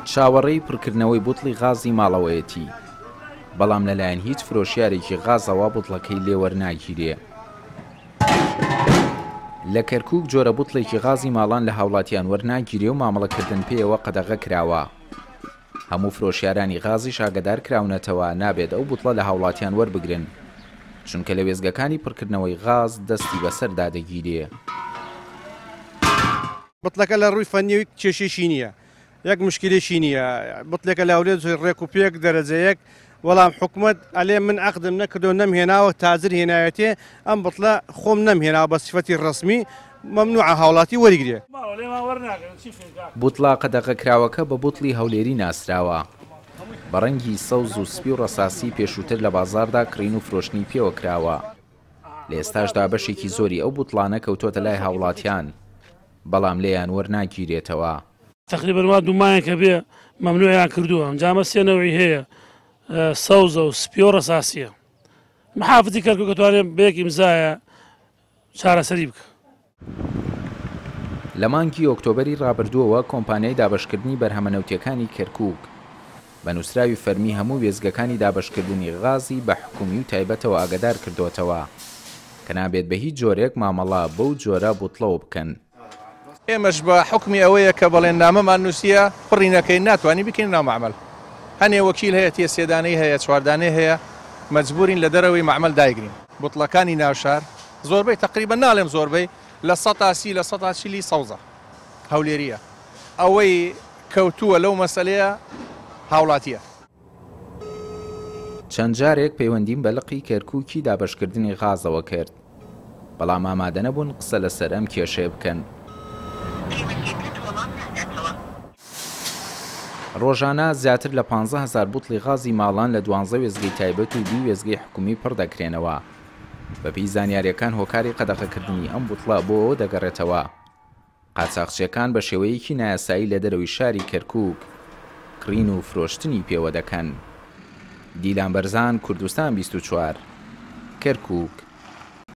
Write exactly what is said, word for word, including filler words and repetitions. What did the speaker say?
چاوەڕێی پڕکردنەوەی بوتڵی غازی ماڵەوەیەتی، بەڵام لەلایەن هیچ فرۆشیارێکی غازەوە بوتڵەکەی لێوەرناگیرێ. لە کەرکوک جۆرە بوتڵێکی غازی ماڵان لە هاوڵاتیان وەرناگیرێ و مامەڵەکردن پێیەوە قەدەغە کراوە. هەموو فرۆشیارانی غازیش ئاگادار کراونەتەوە نابێت ئەو بوتڵە لە هاوڵاتیان وەربگرن، چونکە لە وێزگەکانی پڕکردنەوەی غاز دەستی بەسەردا دەگیرێ. بوتڵەکە لە ڕووی فەنیەوەی کێشێکی نییە، یەک مشکلێکی نییە. بوتڵێکە لە هەولێر ڕێک و پێک دەرەجەیەک، وەڵام حکومەت ئەلێ من عەقدم نەکردو نەمهێناوە، تاجر هێنایەتێ، ئەم بوتڵە خۆم نەمهێناوە بە سیفەتی ڕەسمی، مەمنوعە هاوڵاتی وەریگرێ. بوتڵە قەدەغەکراوەکە بە بوتڵی هەولێری ناسراوە، بە ڕەنگی سەوز و سپی و ڕەساسی پێشووتر لە بازاردا کڕین و فرۆشتنی پێوە کراوە. لە ئێستاشدا بەشێکی زۆری ئەو بوتڵانە کەوتۆتە لای هاوڵاتیان، بەڵام لێیان وەرناگیرێتەوە. تقریبا وا دوو مانگێکە بێ مەمنوعیان کردووە. ئەنجامە سێ نەوعی هەیە، سەوزە و سپی و ڕەساسیە. محافظی کەرکووک ئەتوانێت بە یەک ئیمزایە چارەسەری بکە. لە مانگی ئۆکتۆبەری ڕابردووەوە کۆمپانیای دابەشکردنی بەرهەمە نەوتیەکانی کەرکووک بە نووسراوی فەرمی هەموو وێزگەکانی دابەشکردنی غازی بە حکومی و تایبەتەوە ئاگادار کردوێتەوە کە نابێت بە هیچ جۆرێک مامەڵە بەو جۆرە بوتڵەوە بکەن. ئێمەش بە حکمی ئەوەیە کە بەڵێننامەمان نووسیە پڕی نەکەین ناتوانین بکەین ناو مەعمەل. هەنێ وەکیل هەیە تێ سێدانەی هەیە چواردانەی هەیە، مەجبورین لە دەرەوەی مەعمەل دایگرین. بوتڵەکانی ناوشار زۆربەی تقریبا ناڵێم زۆربەی لە سەتا سی لە سەتا چلی سەوزە هەولێریە. ئەوەی کەوتووە لەو مەسەلەیە هاوڵاتیە. چەند جارێک پەیوەندیم بە لقی کەرکووکی دابەشکردنی غازەوە کرد، بەڵام ئامادە نەبوون قسە لەسەر ئەم کێشەیە بکەن. ڕۆژانە زیاتر لە پانزە هەزار بوتڵی غازی ماڵان لە دوانزە وێزگەی تایبەت و دوو وێزگەی حکومی پڕ دەکرێنەوە. بەپێی زانیاریەکان هۆکاری قەدەغەکردنی ئەم بوتڵە بۆ ئەوە دەگەڕێتەوە قاچاقچیەکان بە شێوەیەکی نایاسایی لە دەرەوەی شاری کەرکووک کڕین و فرۆشتنی پێوە دەکەن. دیلان بەرزان، کوردستان بیست و چوار، کەرکووک.